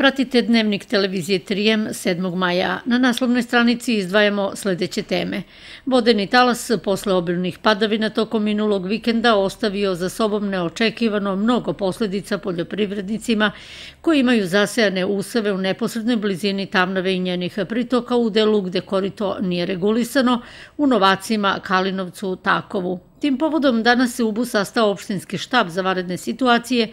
Pratite Dnevnik televizije Trijem 7. maja. Na naslovnoj stranici izdvajamo sledeće teme. Vodeni talas posle obilnih padavina tokom minulog vikenda ostavio za sobom neočekivano mnogo posledica poljoprivrednicima koji imaju zasejane useve u neposrednoj blizini Tamnave i njenih pritoka u delu gde korito nije regulisano, u Novacima, Kalinovcu, Takovu. Tim povodom danas se u UBU sastao opštinski štab za vanredne situacije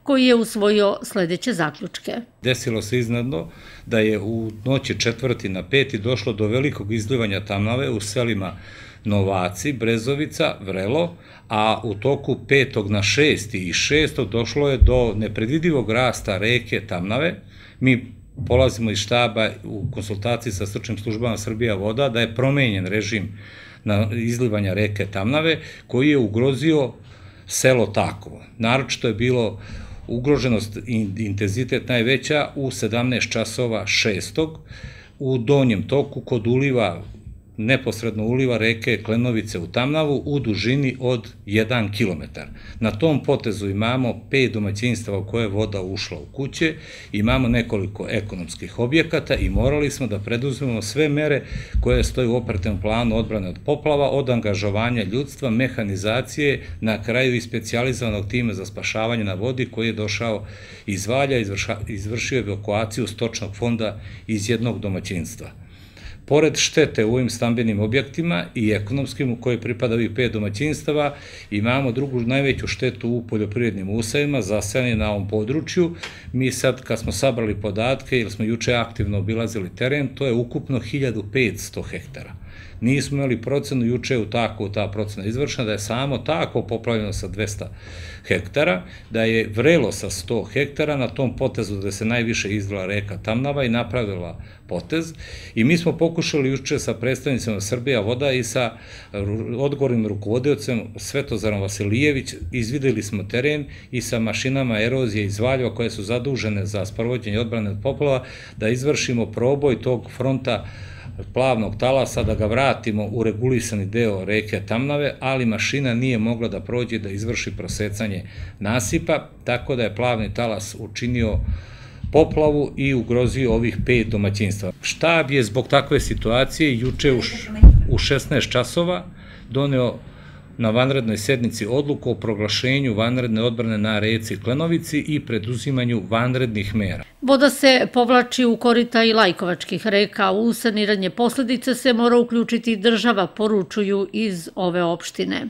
koji je usvojio sledeće zaključke. Desilo se iznenadno da je u noći 4. na 5. došlo do velikog izlivanja Tamnave u selima Novaci, Brezovica, Vrelo, a u toku 5. na 6. i 6. došlo je do nepredvidivog rasta reke Tamnave. Mi polazimo iz štaba u konsultaciji sa stručnim službama Srbija voda da je promenjen režim izlivanja reke Tamnave koji je ugrozio selo Takovo. Naročito je bilo ugroženost i intenzitet najveća u 17 časova 6. u donjem toku kod uliva, neposredno uliva reke Klenovice u Tamnavu u dužini od 1 kilometar. Na tom potezu imamo 5 domaćinstava u koje je voda ušla u kuće, imamo nekoliko ekonomskih objekata i morali smo da preduzmemo sve mere koje stoje u operativnom planu odbrane od poplava, od angažovanja ljudstva, mehanizacije, na kraju i specijalizovanog tima za spašavanje na vodi koji je došao iz Valja, izvršio evakuaciju stočnog fonda iz jednog domaćinstva. Pored štete u ovim stambenim objektima i ekonomskim u koje pripada ovih 5 domaćinstava, imamo drugu najveću štetu u poljoprivrednim usevima zasejani na ovom području. Mi sad kad smo sabrali podatke, jer smo juče aktivno obilazili teren, to je ukupno 1500 hektara. Nismo imali procenu, juče je u Takovu ta procena izvršena, da je samo Takovo poplavljeno sa 200 hektara, da je Vrelo sa 100 hektara na tom potezu gde se najviše izlila reka Tamnava i napravila potez. I mi smo pokušali juče sa predstavnicima Srbija voda i sa odgovornim rukovodiocem Svetozarom Vasilijević, izvideli smo teren i sa mašinama erozije iz Valjeva koje su zadužene za sprovođenje odbrane od poplava, da izvršimo proboj tog fronta plavnog talasa, da ga vratimo u regulisani deo reke Tamnave, ali mašina nije mogla da prođe da izvrši prosecanje nasipa, tako da je plavni talas učinio poplavu i ugrozio ovih 5 domaćinstva. Štab je zbog takve situacije juče u 16 časova doneo na vanrednoj sednici odluku o proglašenju vanredne odbrane na reci Klenovici i preduzimanju vanrednih mera. Voda se povlači u korita i lajkovačkih reka, u saniranje posledica se mora uključiti država, poručuju iz ove opštine.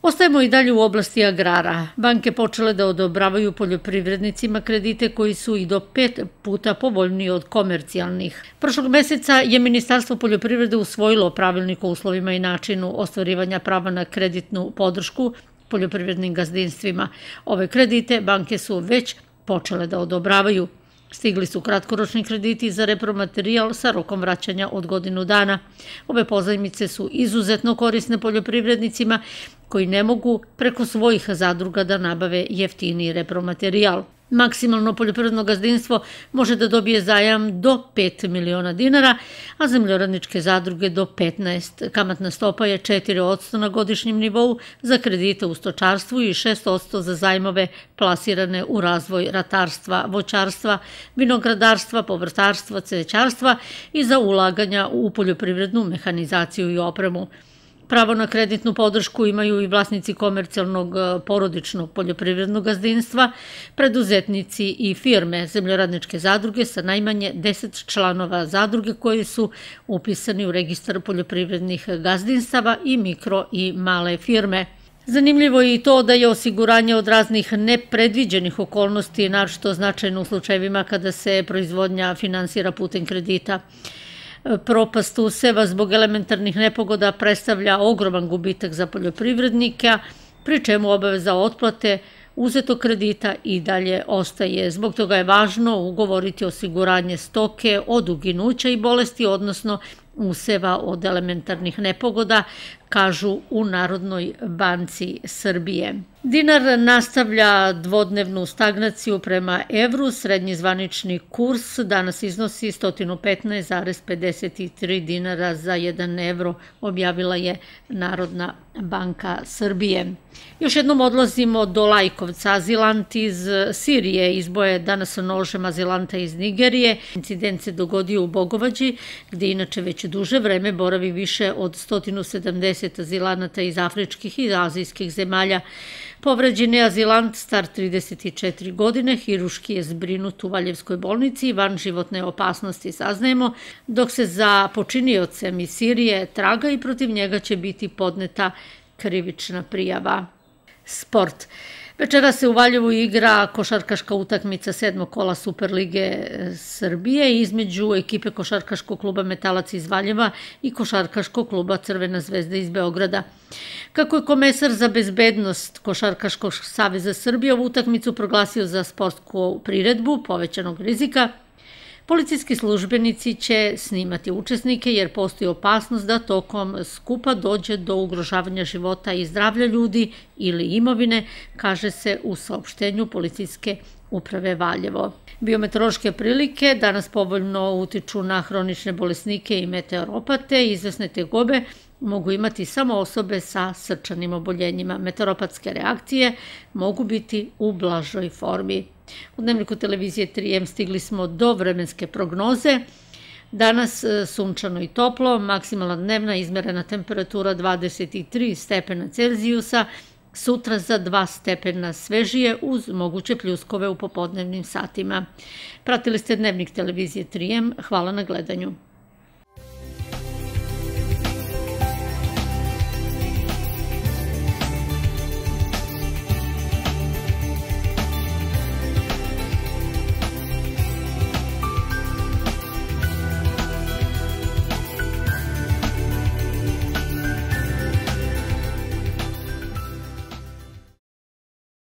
Ostajemo i dalje u oblasti agrara. Banke počele da odobravaju poljoprivrednicima kredite koji su i do 5 puta povoljniji od komercijalnih. Prošlog meseca je Ministarstvo poljoprivrede usvojilo pravilnik o uslovima i načinu ostvarivanja prava na kreditnu podršku poljoprivrednim gazdinstvima. Ove kredite banke su već počele da odobravaju. Stigli su kratkoročni krediti za repromaterijal sa rokom vraćanja od godinu dana. Ove pozajmice su izuzetno korisne poljoprivrednicima koji ne mogu preko svojih zadruga da nabave jeftiniji repromaterijal. Maksimalno poljoprivredno gazdinstvo može da dobije zajam do 5 miliona dinara, a zemljoradničke zadruge do 15. Kamatna stopa je 4% na godišnjem nivou za kredite u stočarstvu i 6% za zajmove plasirane u razvoj ratarstva, voćarstva, vinogradarstva, povrtarstva, cvećarstva i za ulaganja u poljoprivrednu mehanizaciju i opremu. Pravo na kreditnu podršku imaju i vlasnici komercijalnog porodičnog poljoprivrednog gazdinstva, preduzetnici i firme zemljoradničke zadruge sa najmanje 10 članova zadruge koji su upisani u registar poljoprivrednih gazdinstava i mikro i male firme. Zanimljivo je i to da je osiguranje od raznih nepredviđenih okolnosti naročito značajno u slučajevima kada se proizvodnja finansira putem kredita. Propast useva zbog elementarnih nepogoda predstavlja ogroman gubitak za poljoprivrednika, pri čemu obaveza otplate uzetog kredita i dalje ostaje. Zbog toga je važno ugovoriti osiguranje stoke od uginuća i bolesti, odnosno useva od elementarnih nepogoda, kažu u Narodnoj banci Srbije. Dinar nastavlja dvodnevnu stagnaciju prema evru. Srednji zvanični kurs danas iznosi 115,53 dinara za 1 evro, objavila je Narodna banka Srbije. Još jednom odlazimo do Lajkovca. Azilant iz Sirije izboje danas nožem azilanta iz Nigerije. Incident se dogodio u Bogovađi, gde inače već duže vreme boravi više od 170 azilanata iz afričkih i azijskih zemalja. Povređeni azilant, star 34 godine, hiruški je zbrinut u Valjevskoj bolnici i van životne opasnosti, saznajemo, dok se za počiniocem iz Sirije traga i protiv njega će biti podneta krivična prijava. Sport. Večera se u Valjevu igra košarkaška utakmica 7. kola Superlige Srbije između ekipe košarkaškog kluba Metalac iz Valjeva i košarkaškog kluba Crvena zvezda iz Beograda. Kako je komesar za bezbednost Košarkaškog saveza Srbije ovu utakmicu proglasio za sportsku priredbu povećanog rizika, policijski službenici će snimati učesnike jer postoji opasnost da tokom skupa dođe do ugrožavanja života i zdravlja ljudi ili imovine, kaže se u saopštenju policijske uprave Valjevo. Biometeorološke prilike danas povoljno utiču na hronične bolesnike i meteoropate. Izvesne tegobe mogu imati samo osobe sa srčanim oboljenjima. Meteoropatske reakcije mogu biti u blažoj formi. U dnevniku televizije 3M stigli smo do vremenske prognoze. Danas sunčano i toplo, maksimalna dnevna izmerena temperatura 23 stepena Celzijusa, sutra za 2 stepena svežije uz moguće pljuskove u popodnevnim satima. Pratili ste dnevnik televizije 3M, hvala na gledanju.